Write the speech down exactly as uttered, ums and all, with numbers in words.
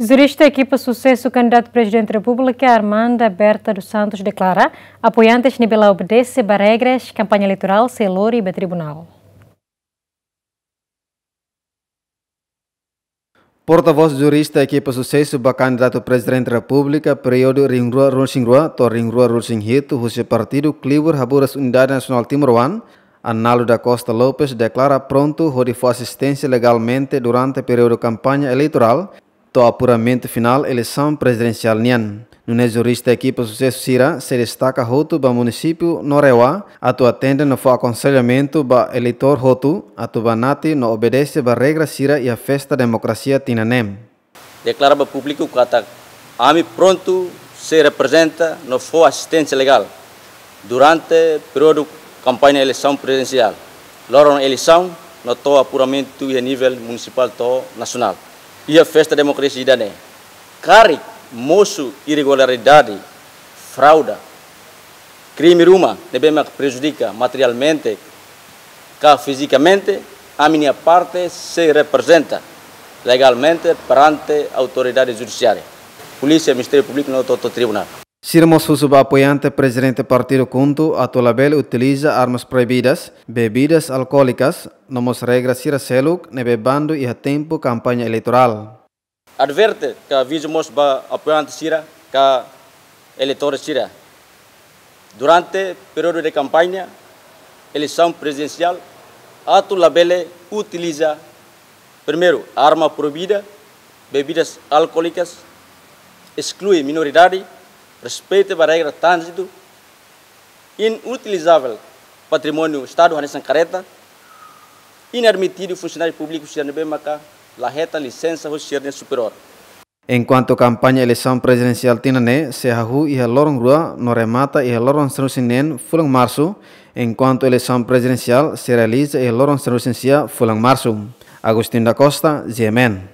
Jurista ekipa susesu kandidatu Prezidente Repúblika Armanda Berta dos Santos deklara apoiantes ne'ebé la obedese ba regras kampaña eleitorál sei lori ba tribunál. Portavós jurista ekipa susesu ba kandidatu Prezidente Repúblika períodu rihun rua ruanulu-resin-rua to'o rihun rua ruanulu-resin-hitu husi partidu Klibur Haburas Unidade Nasionál Timoroan, Arnaldo da Costa Lopes deklara prontu hodi fó asisténsia legalmente durante períodu kampaña eleitorál to'o apuramentu finál eleisaun prezidensiál nian. Nune'e jurista ekipa susesu sira sei destaka hotu ba munisípiu no RAEOA atu atende no fó akonsellamentu ba eleitór hotu atu banati no obedese ba regra sira iha festa demokrasia tinan ne'e. Deklara ba públiku katak ami prontu sei reprezenta no fó asisténsia legál durante períodu kampaña eleisaun prezidensiál, loron eleisaun no to'o apuramentu iha nivel munisipál to'o nasionál. Iha festa demokrasia ida-ne'e, karik mosu irregularidade, fraude, krime ruma ne'ebé mak prejudika materialmente ka fizikamente, ami-nia parte sei reprezenta legalmente perante autoridade judisiária, polísia, Ministériu Públiku no to'o tribunál. Sira mós husu ba apoiante Prezidente partidu KHUNTO atu labele utiliza armas proibidas, bebidas alkoólikas, no mós regra sira seluk ne'ebé bandu iha tempu kampaña eleitorál. Adverte ka avizu mós ba apoiante sira ka eleitór sira durante períodu de kampaña eleisaun prezidensiál atu labele utiliza, primeiru, arma proibida, bebidas alkoólikas, esklui minoridade, respeita ba regra tránzitu, inutilizável patrimóniu Estadu hanesan karreta, inadmitidu funsionáriu públiku sira ne'ebé maka la hetan lisensa hosi sira-nia superiór. Enkuantu kampaña eleisaun prezidensiál tinan ne'e sei hahú iha loron rua no remata iha loron sanulu-resin-neen fulan Marsu, enkuantu eleisaun prezidensiál sei realiza iha loron sanulu-resin-sia fulan Marsu. Agostinho da Costa, G M N.